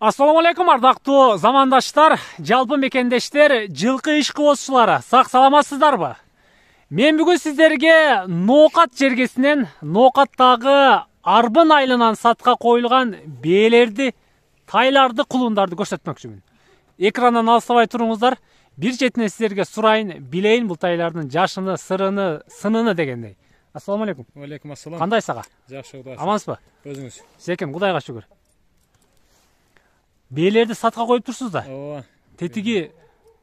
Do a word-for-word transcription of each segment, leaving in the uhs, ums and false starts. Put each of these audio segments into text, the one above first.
Assalamu alaikum ардактуу замандаштар, жалпы мекендештер, жылкы ишкыбозчулары, сак саламатсыздарбы? Мен бүгүн сиздерге Ноокат жергесинен, Ноокаттагы арбын айылынан сатка коюлган бээлерди, тайларды, кулундарды көрсөтмөкчүмүн. Экрандан алыстабай туруңуздар. Бир четинен сиздерге сурайын, билейин бул тайлардын жашыны, сырыны, сыныны дегендей. Ассаламу алейкум. Алейкум ассалам. Кандай сага? Жакшы, Кудайга. Амансызбы? Өзүңүз? Секем, Кудайга шүгүр. Бээлерди сатка коюп турсуз да? Ооба. Тетиги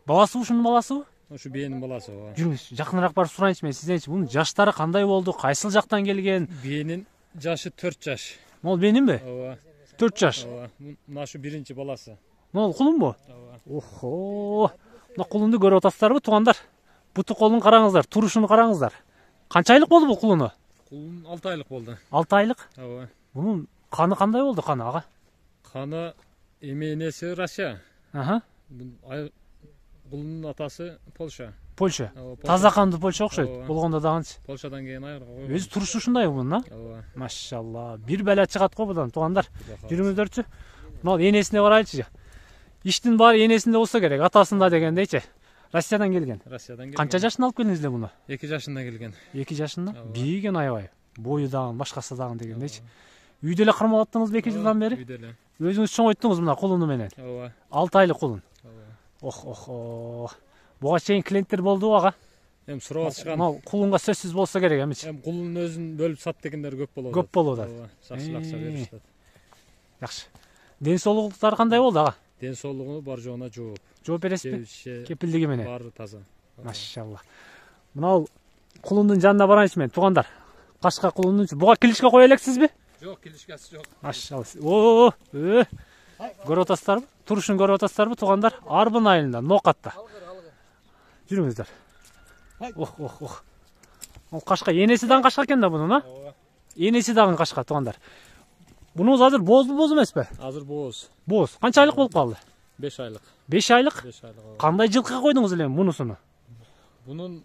баласы ушунун баласыбы? Ушу бээнин баласы, ооба. Жүрүңүз, жакыныраак барып сурайынчы мен сизденчи. Бунун жаштары кандай болду? Кайсыл жактан келген? Бээнин жашы төрт жаш. Могул бээнинби? Ооба. төрт жаш. Ооба. Мына ушу биринчи баласы. Могул кулунбу? Ооба. Охо. Мына кулунду көрүп атасыздарбы, туугандар? Буту колун караңыздар, турушуну караңыздар. Канча айлык болду бул кулуну? Кулун алты айлык болду. алты айлык? Ооба. Бунун каны кандай болду, каны ага? Каны эми энеси Россия. Аха. Кулунун атасы Польша. Польша. Таза кандуу Польша окшойт. Ооба. Болгондо дагынчы. Польшадан кийин айырга койгон. Өзү турушу ушундай бунун, а? Ооба. Машалла. Бир бала чыгат го будан, туугандар. Жүрүңүздөрчү. Мына энесине барайлычы. Иштин баары энесинде болсо керек, атасында дегендейчи. Россиядан келген. Россиядан келген. Канча жашында алып келдиңиздер муну? эки жашында келген. эки жашында? Бийген аябай. Бою дагы, башкасы дагы дегендейчи. Үйдө эле кармап аттыңызбы эки жылдан бери? Үйдө эле. Өзүңүз чоңойттуңуз мына кулуну менен. Ооба. алты айлык кулун. Ооба. Ох, ох. Буга чейин клиенттер болдубу ага? Эми сурап атышкан. Мына кулунга сөзсүз болсо керек эмичи. Эми кулунун өзүн бөлүп сат дегендер көп болот. Көп болот. Ооба. Жакшы акча беришет. Жакшы. Ден соолуктары кандай болду ага? Ден соолугуну бар жоона жооп. Жооп бересизби? Кепилдиги менен. Баары таза. Машалла. Мына кулундун жанына барайынчы мен, туугандар. Кашка кулундун. Буга килишке кое элексизби? Жок, килишкеси жок. Машалла. О, э. Көрүп атасыздарбы? Турушун көрүп атасыздарбы, туугандар? Арбын айылында, Ноокатта. Жүрүңүздөр. Ох, ох, ох. Ол кашка, энеси дагы кашка экен да бунун, а? Ооба. Энеси дагы кашка, туугандар. Бунуңуз азыр боозбу, боз эмеспи? Азыр бооз. Боз. Канча айлык болуп калды? беш айлык. беш айлык? беш айлык. ооба. Кандай жылкыга койдуңуз эле мунусуну? Бунун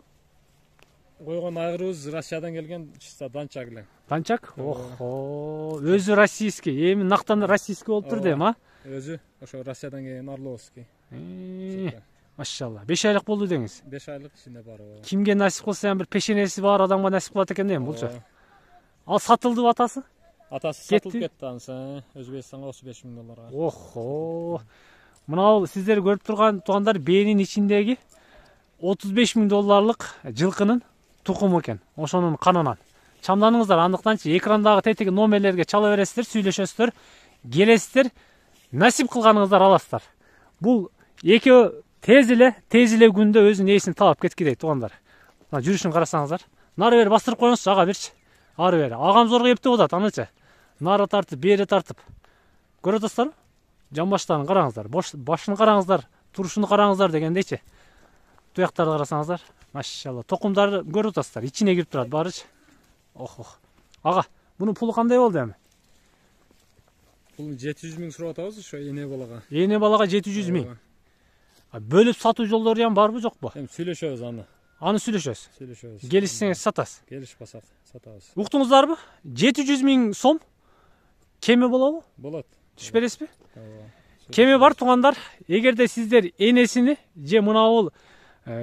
койгон айгырыбыз Россиядан келген чиста данчак эле. Данчак? Охо. Өзү российский. Эми нактан российский болуп турду эми, а? Өзү ошо Россиядан келген Орловский. Машалла. беш айлык болду деңиз. беш айлык ичинде бар. Кимге насип кылса эми бир пешенеси бар адамга насип кылат экен да эми булчу. Ал сатылдыбы атасы? Атасы сатылып кетти анысы. Өзбекстанга отуз беш миң долларга. Охо. Мына сиздер көрүп турган туугандар бээнин ичиндеги отуз беш миң долларлык жылкынын тукуму экен. Ошонун канынан. Чамданыңыздар, андыктанчы экрандагы тетиги номерлерге чала бересиздер, сүйлөшөсүздөр, келесиздер, насип кылганыңыздар аласыздар. Бул экөө тез эле, тез эле күндө өзүнүн ээсин таап кеткидей, туугандар. Мына жүрүшүн карасаңыздар. Нары бери бастырып коюңузчу, ага берчи. Ары бери. Агам зорго эптеп атат, анычы. Нары тартып, бери тартып. Көрүп атасыздарбы? Жамбаштарын караңыздар, башын караңыздар, турушуну караңыздар дегендейчи. Туяктарды карасаңыздар, машалла. Токумдарды көрүп атасыздар, ичине кирип турат баарычы. Ох, ох. Ага, бунун пулу кандай болду эми? Бул жети жүз миң сурап атабыз ошо эне балага. Эне балага жети жүз миң. Бөлүп сатуу жолдору ham барбы, жокпу? Эми сүйлөшөбүз аны. Аны сүйлөшөбүз. Сүйлөшөбүз. Келишсеңиз сатасыз. Келишпасак сатабыз. Уктуңуздарбы? жети жүз миң сом кеме болобу? Болот. Түш бересизби? Ооба. Кеме бар, туугандар. Эгерде сиздер энесини же мына бул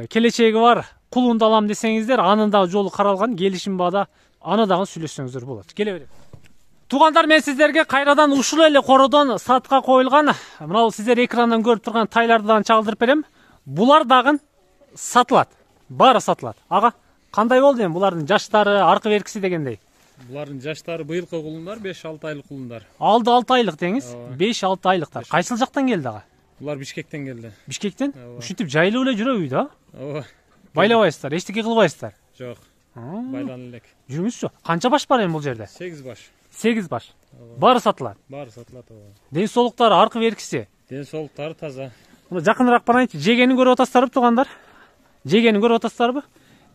келечеги бар кулунду алам десеңиздер, анын да жолу каралган, келишим баада, аны дагы сүйлөшсөңүздөр болот. Келе берем. Туугандар, мен сиздерге кайрадан ушул эле кородон сатка коюлган, мына бул сиздер экрандан көрүп турган тайларды дагы чагылдырып берем. Булар дагы сатылат. Баары сатылат. Ага, кандай болду эми булардын жаштары, аркы беркиси дегендей? Булардын жаштары быйылкы кулундар беш алты айлык кулундар. Алды алты айлык деңиз, беш алты айлыктар. Кайсыл жактан келди ага? Булар Бишкектен келди. Бишкектен? Ушинтип жайлуу эле жүрөбү үйдө? Ооба. Байлабайсыздар, эчтеке кылбайсыздар. Жок. Байланып элек. Жүрүңүзчү. Канча баш бар эми бул жерде? сегиз баш. сегиз баш. Баары сатылат. Баары сатылат, ооба. Ден соолуктары, аркы беркиси? Ден соолуктары таза. Мына жакыныраак барайынчы. Жегенин көрүп атасыздарбы, туугандар? Жегенин көрүп атасыздарбы?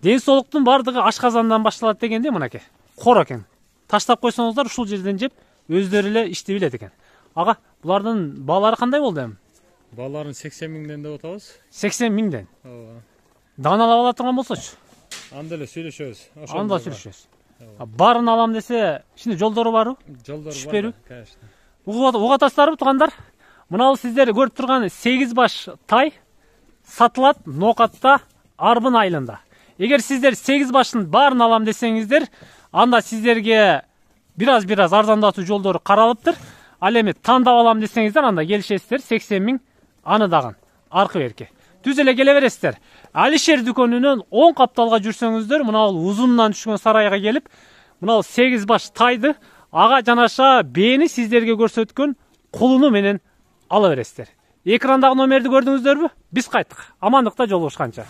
Ден соолуктун бардыгы ашказандан башталат дегенде мынакей. Кор экен. Таштап койсоңуздар ушул жерден жеп, өздөрү эле ишти билет экен. Ага, булардын баалары кандай болду эми? Бааларын сексен миңден деп атабыз. сексен миңден. Ооба. Даналап ала турган болсочу. Анда эле сүйлөшөбүз. Анда сүйлөшөбүз. Барын алам десе, ичинде жолдору барбы? Жолдору Түшүп бар. берүү? Конечно. Угуп атасыздарбы, туугандар? Мына сиздер көрүп турган сегиз баш тай сатылат Ноокатта Арбын айылында. Эгер сиздер сегиз баштын баарын алам десеңиздер, анда сиздерге бир аз бир аз арзандатуу жолдору каралыптыр. Ал эми тандап алам десеңиздер, анда келишесиздер сексен миң аны дагы аркы берки. Түз эле келе бересиздер. Алишер дүкөнүнөн оң капталга жүрсөңүздөр, мына бул узунунан түшкөн сарайга келип, мына сегиз баш тайды ага жанаша бээни сиздерге көрсөткөн кулуну менен ала бересиздер. Экрандагы номерди көрдүңүздөрбү? Биз кайттык. Амандыкта жолугушканча.